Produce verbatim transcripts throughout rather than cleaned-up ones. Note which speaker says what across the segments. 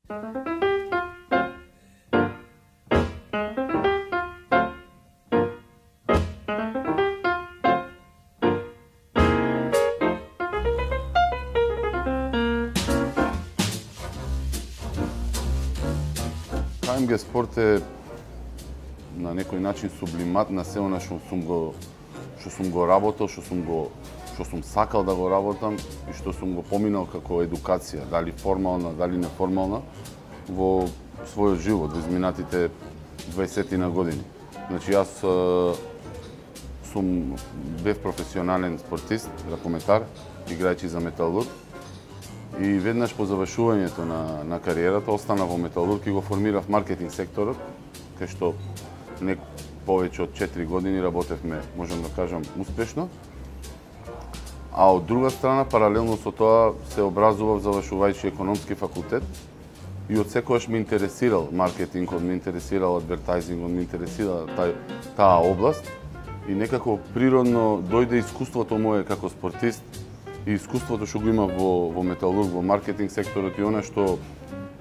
Speaker 1: КМГ спорт е на некој начин сублимат на се она што сум го што сум го работел, што сум го што сум сакал да го работам и што сум го поминал како едукација, дали формална, дали неформална, во својот живот, во изминатите дваесетина години. Значи јас сум бев професионален спортист, ракометар, играјќи за Металург. И веднаш по завршувањето на, на кариерата остана во Металург и го формирав маркетинг секторот, кај што не повеќе од четири години работевме, можам да кажам, успешно. А од друга страна, паралелно со тоа, се образував завршувајќи економски факултет и од секогаш ме интересирал маркетингот, ме интересирал адвертајзингот, ме интересира тај, таа област и некако природно дојде искуството мое како спортист и искуството што го имав во, во Металург, во маркетинг секторот и она што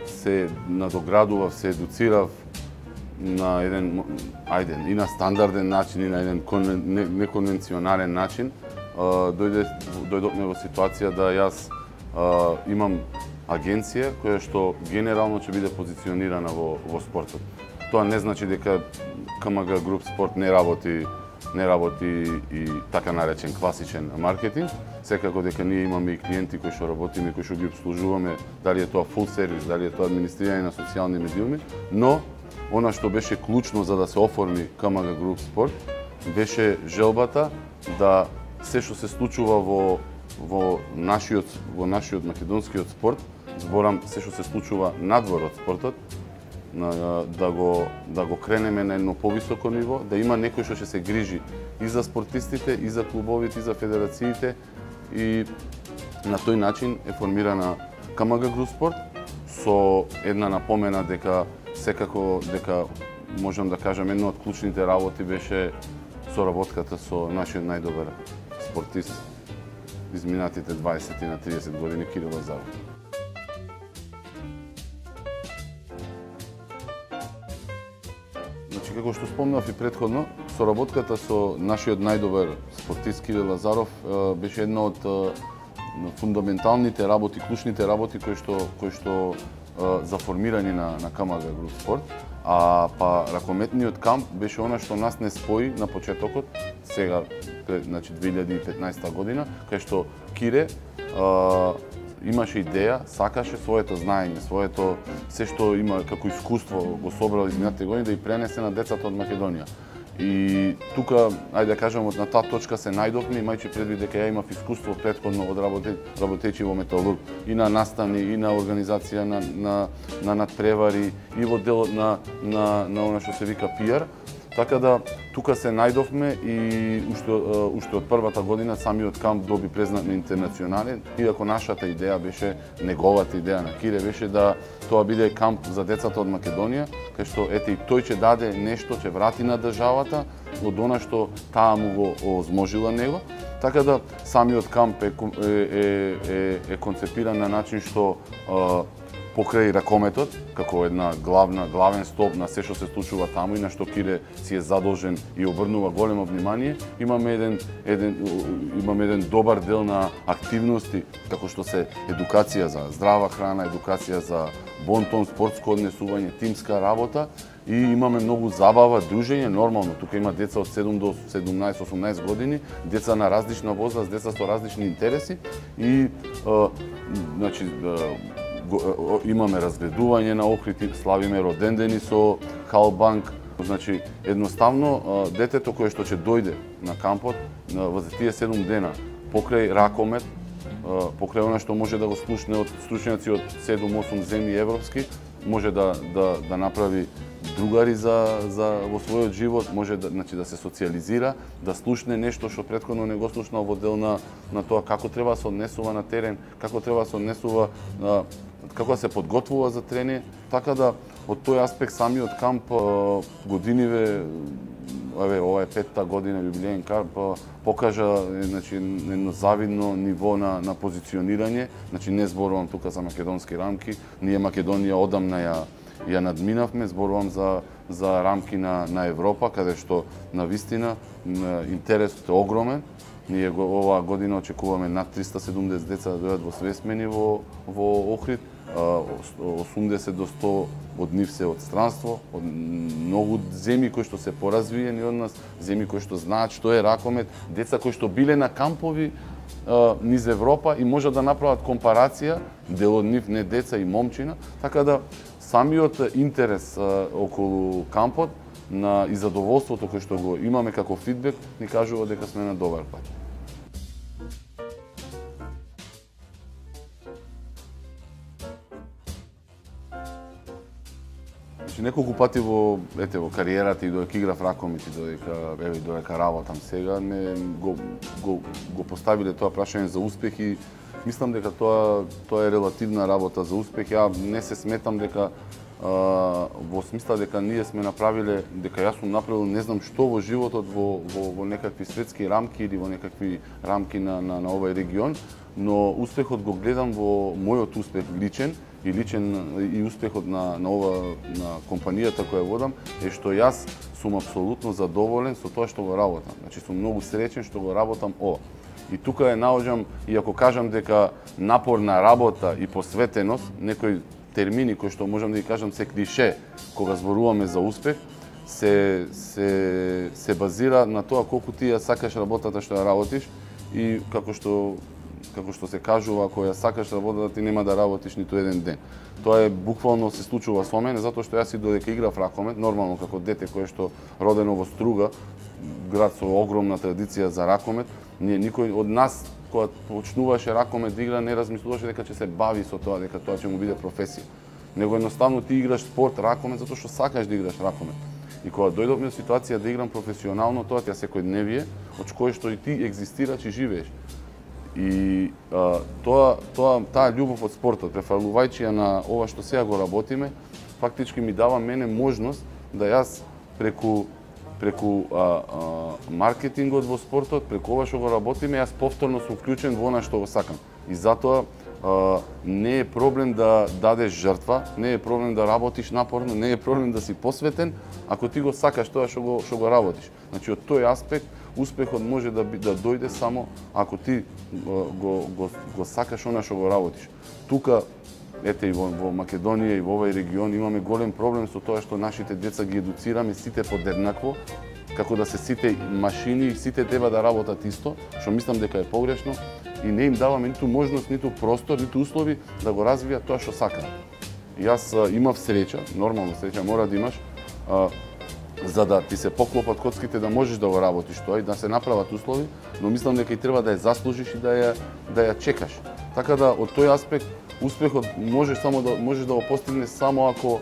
Speaker 1: се надоградував, се едуцирав на еден, ајде, и на стандарден начин, и на еден неконвенционален начин, дојде, дојдовме во ситуација да јас имам агенција која што генерално ќе биде позиционирана во, во спортот. Тоа не значи дека КМГ Груп Спорт не работи не работи и така наречен класичен маркетинг. Секако дека ние имаме и клиенти кои што работиме, кои што ги обслужуваме, дали е тоа фул сервис, дали е тоа администрирање на социјални медиуми, но она што беше клучно за да се оформи КМГ Груп Спорт беше желбата да се што се случува во во нашиот во нашиот македонскиот спорт, зборам се што се случува надвор од спортот, да го да го кренеме на едно повисоко ниво, да има некој што ќе се грижи и за спортистите, и за клубовите, и за федерациите и на тој начин е формирана КМГ Груп Спорт со една напомена дека секако дека можам да кажам една од клучните работи беше соработката со нашиот најдобар спортист изминатите дваесет на триесет години Кирил Лазаров. Значи, како што спомнав и претходно, соработката со нашиот најдобар спортист Кирил Лазаров беше една од фундаменталните работи, клучните работи кои што кои што за формирање на на КМГ Груп Спорт, а па ракометниот камп беше она што нас не спои на почетокот, сега значи две илјади и петнаесета година, кај што Кире а, имаше идеја, сакаше своето знаење, своето се што има како искуство го собрал изминатите години да и пренесе на децата од Македонија. И тука, ајде да кажам, на таа точка се најдовме, имајќи предвид дека ја имав искуство претходно од работејќи во Металург и на наставни, и на организација на на на надпревари, и во делот на на на она што се вика пи ар. Така да тука се најдовме и уште уште од првата година самиот камп доби признат на интернационален, иако нашата идеја беше, неговата идеја на Кире беше да тоа биде камп за децата од Македонија, кај што ете и тој ќе даде нешто, ќе врати на државата од она што таа му го озможила него. Така да самиот камп е е е, е концепиран на начин што покрај ракометот, како една главна, главен столб на се што се случува таму и на што Кире си е задолжен и обрнува големо внимание, имаме еден, еден, имаме еден добар дел на активности, како што се едукација за здрава храна, едукација за бонтон, спортско однесување, тимска работа и имаме многу забава, дружење, нормално. Тука има деца од седум до седумнаесет осумнаесет години, деца на различна возраст, деца со различни интереси и а, значи, имаме разгледување на Охрид, славиме родендени со Халбанк. Значи, едноставно, детето кое што ќе дојде на кампот во тие седум дена, покрај ракомет, покрај она што може да го слушне од стручњаци од седум-осум земји европски, може да, да, да направи другари за, за во својот живот, може да, значи, да се социализира, да слушне нешто што претходно не го слушнал во дел на, на тоа како треба да се однесува на терен, како треба да се однесува, како да се подготвува за тренинг, така да од тој аспект самиот камп годиниве еве ова е петта година јубилеен камп, покажа значи едно завидно ниво на на позиционирање, значи не зборувам тука за македонски рамки, ние Македонија одамна ја ја надминавме, зборувам за за рамки на на Европа, каде што на вистина интересот е огромен. Ние го, оваа година очекуваме над триста седумдесет деца да дојдат во свесмени во во Охрид, осумдесет до сто од нив се од странство, од многу земји кои што се поразвиени од нас, земји кои што знаат што е ракомет, деца кои што биле на кампови низ Европа и можат да направат компарација, дел од нив не деца и момчина, така да самиот интерес околу кампот на и задоволството кој што го имаме како фидбек ни кажува дека сме на добар пат. Значи неколку пати во ете во кариерата и додека играв ракомет и додека еве додека работам сега ме го го го поставиле тоа прашање за успех и мислам дека тоа тоа е релативна работа за успех. Ја не се сметам дека а, во смисла дека ние сме направиле, дека јас сум направил не знам што во животот во во, во некакви светски рамки или во некакви рамки на на, на овај регион, но успехот го гледам во мојот успех личен и личен и успехот на на ова на компанијата која водам е што јас сум апсолутно задоволен со тоа што го работам. Значи сум многу среќен што го работам ова. И тука е наоѓам, и ако кажам дека напорна работа и посветеност, некои термини кои што можам да ги кажам се клише кога зборуваме за успех, се се се базира на тоа колку ти ја сакаш работата што ја работиш и како што како што се кажува, ако ја сакаш работата ти нема да работиш ниту еден ден. Тоа е буквално се случува со мене затоа што јас и додека играв ракомет, нормално како дете кое што родено во Струга, град со огромна традиција за ракомет, ние никој од нас кога почнуваше ракомет да игра не размислуваше дека ќе се бави со тоа, дека тоа ќе му биде професија. Него едноставно ти играш спорт ракомет затоа што сакаш да играш ракомет. И кога дојдовме во ситуација да играм професионално, тоа ти е секојдневие, од кое што и ти екзистираш и живееш. И а, тоа тоа таа љубов од спортот, префрлувајќи ја на ова што сега го работиме, фактички ми дава мене можност да јас преку преку а, а, маркетингот во спортот, преку ова што го работиме, јас повторно сум вклучен во она што го сакам. И затоа а, не е проблем да дадеш жртва, не е проблем да работиш напорно, не е проблем да си посветен, ако ти го сакаш тоа што го што го работиш. Значи од тој аспект успехот може да да дојде само ако ти го го го сакаш она што го работиш. Тука ете и во, во Македонија и во овај регион имаме голем проблем со тоа што нашите деца ги едуцираме сите подеднакво, како да се сите машини и сите треба да работат исто, што мислам дека е погрешно и не им даваме ниту можност, ниту простор, ниту услови да го развијат тоа што сакаат. Јас а, имав среќа, нормално среќа мора да имаш, а, за да ти се поклопат коцките да можеш да го работиш тоа и да се направат услови, но мислам дека и треба да ја заслужиш и да ја да ја чекаш. Така да од тој аспект успехот можеш само да можеш да го постигнеш само ако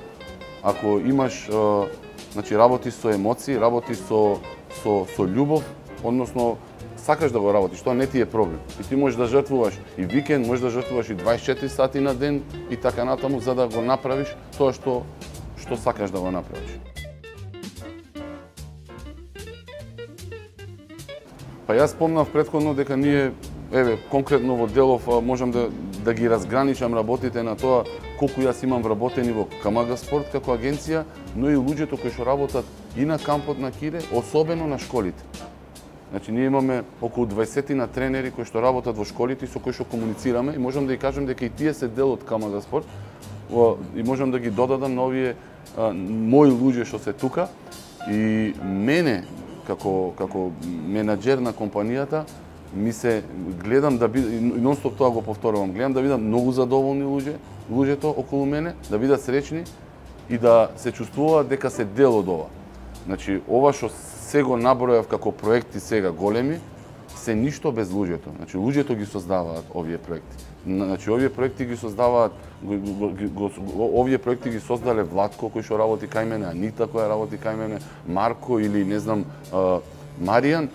Speaker 1: ако имаш а, значи работиш со емоции, работиш со со со љубов, односно сакаш да го работиш, тоа не ти е проблем. И ти можеш да жртвуваш и викенд, можеш да жртвуваш и дваесет и четири сати на ден и така натаму за да го направиш тоа што што сакаш да го направиш. Па јас спомнав претходно дека ние еве конкретно во Делов можам да да ги разграничам работите на тоа колку јас имам вработени во КМГ Спорт како агенција, но и луѓето кои што работат и на кампот на Кире, особено на школите. Значи ние имаме околу дваесет на тренери кои што работат во школите и со кои што комуницираме и можам да ги кажам дека и тие се дел од КМГ Спорт и можам да ги додадам на овие а, мои луѓе што се тука и мене како како менаџер на компанијата ми се гледам да биде нонстоп тоа го повторувам, гледам да бидам многу задоволни луѓе, луѓето околу мене, да бидат среќни и да се чувствуваат дека се дел од ова. Значи ова што се го набројав како проекти сега големи, се ништо без луѓето. Значи луѓето ги создаваат овие проекти. Значи овие проекти ги создаваат го, го, го, овие проекти ги создале Владко кој што работи кај мене, Анита која работи кај мене, Марко или не знам а, Маријан,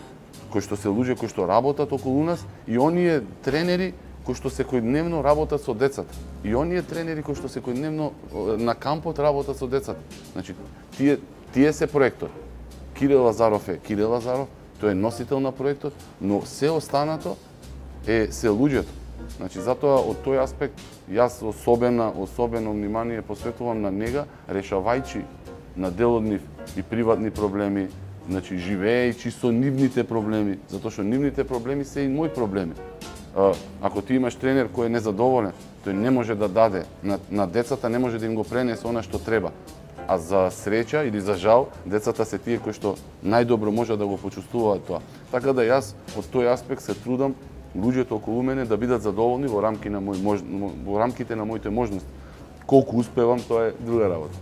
Speaker 1: кои што се луѓе кои што работат околу нас и оние тренери кои што секојдневно работат со децата. И оние тренери кои што секојдневно на кампот работат со децата. Значи тие тие се проектот. Кирил Лазаров е Кирил Лазаров, тој е носител на проектот, но се останато е се луѓето. Значи затоа од тој аспект јас особено особено внимание посветувам на нега, решавајќи на дел од нив и приватни проблеми, значи живеејќи со нивните проблеми, затоа што нивните проблеми се и мои проблеми. Ако ти имаш тренер кој е незадоволен, тој не може да даде на, на децата, не може да им го пренесе она што треба. А за среќа или за жал, децата се тие кои што најдобро може да го почувствуваат тоа. Така да јас од тој аспект се трудам луѓето околу мене да бидат задоволни во рамки на мој, во рамките на моите можности. Колку успевам, тоа е друга работа.